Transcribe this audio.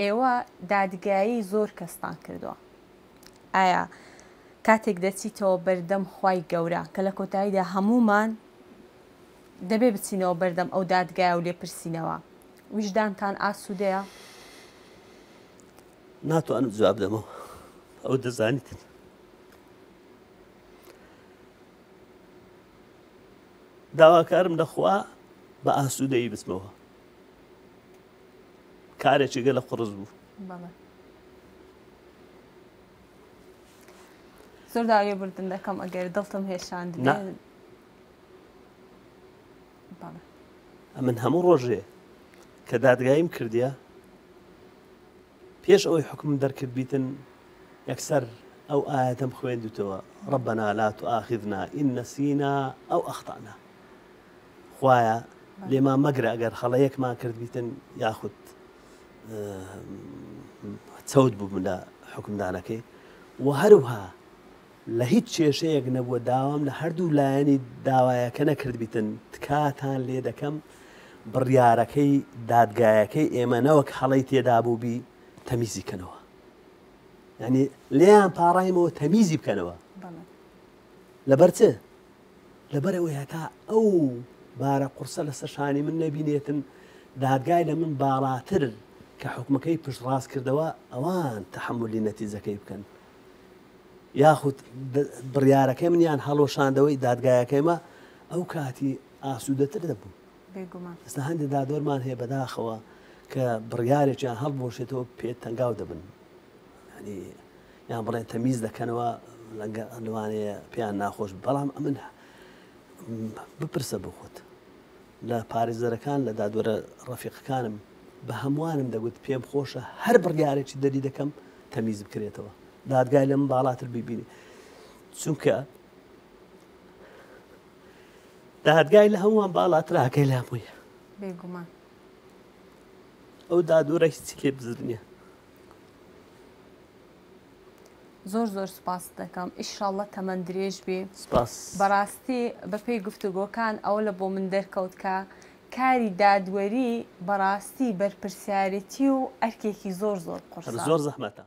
ئێوە دادگایی زۆر کەستان کردووە ئایا کاتێک دەچیتەوە بەردەم خوای گەورە کە لە کۆتاییدا هەموومان دەبێ بچینەوە بەردەم ئەو دادگایە و لێپرسینەوە ویژدانتان ئاسوودەیە؟ ناتوانم جواب دەمەوە ئەو دەزانیتن داواکارم لەخوا بە ئاسوودەیی بچمەوە کارێکی گەلە قوڕس بوو. زۆر داوای لێبوردن دەکەم ئەگەر دڵتم هێشاند بێ. ئەمن هەموو ڕۆژێ کە دادگاییم کردیە پێش ئەوەی حکم دەرکرد بیتن یەکسەر ئەو ئاەتەم خوێندوتەوە ربنا لا تؤاخذنا إن نسينا أو أخطأنا خوایە لێمان مەگرە ئەگەر هەڵەیەکمان کردبیتن یاخود چەوت بووم لە حکومدانەکەی و هەروها لە هیچ کێشەیەک نەبووە داوام لە هەردوو لایەنی داوایەکە نەکردبیتن تکاتان لێ دەکەم بڕیارەکەی دادگایەکەی ئێمە نەوەک هەڵەی تێدا بووبی تەمیزی کەنەوە یعنی لێیان پاڕایمەوە تەمیزی بکەنەوە لەبەر چ؟ لەبەرئەوەی هەتا ئەو بارە قورسە لەسەر شانی من نەبینێتن، دادگای لە من باڵاتر کە حوکمەکەی پشتڕاست کردەوە، ئەوان تەحەمولی نەتیجەکەی بکەن. یاخود بڕیارەکەی منیان هەڵوەشاندەوەی دادگایەکەیمە، ئەو کاتی ئاسوودەتر دەبووم. بێگومان. ئێستا هەندێک دادوەرمان هەیە بەداخەوە کە بڕیارێکیان هەڵبوەشێتەوە پێ تەنگاو دەبن. یانی یان بڵێن تەمیز دەکەنەوە لەوانەیە پێیان ناخۆش بەڵام ئەمن بپرسە بۆ خۆت لە پارێزەرەکان لە دادوەرە ڕەفیقەکانم بە هەمووانم دەگوت پێم خۆشە هەر بڕیارێکی دەری دەکەم تەمیز بکرێتەوە دادگای لەم باڵاتر ببینی چونکە دادگای لە هەمووان باڵاتراکەی لامۆیە بێگومان ئەو دادوەرە هیچی لێ بزر نییە زۆر زۆر سوپاست دەکەم ئیشاڵڵە تەمەن درێژ بی. سپاس. بەڕاستی بەپێی گفتوگۆکان ئەوە لە بۆ من دەرکەوت کە کاری دادوەری بەڕاستی بەرپرسیارێتی و ئەرکێکی زۆر زۆر قورسە. زۆر زەحمەتە.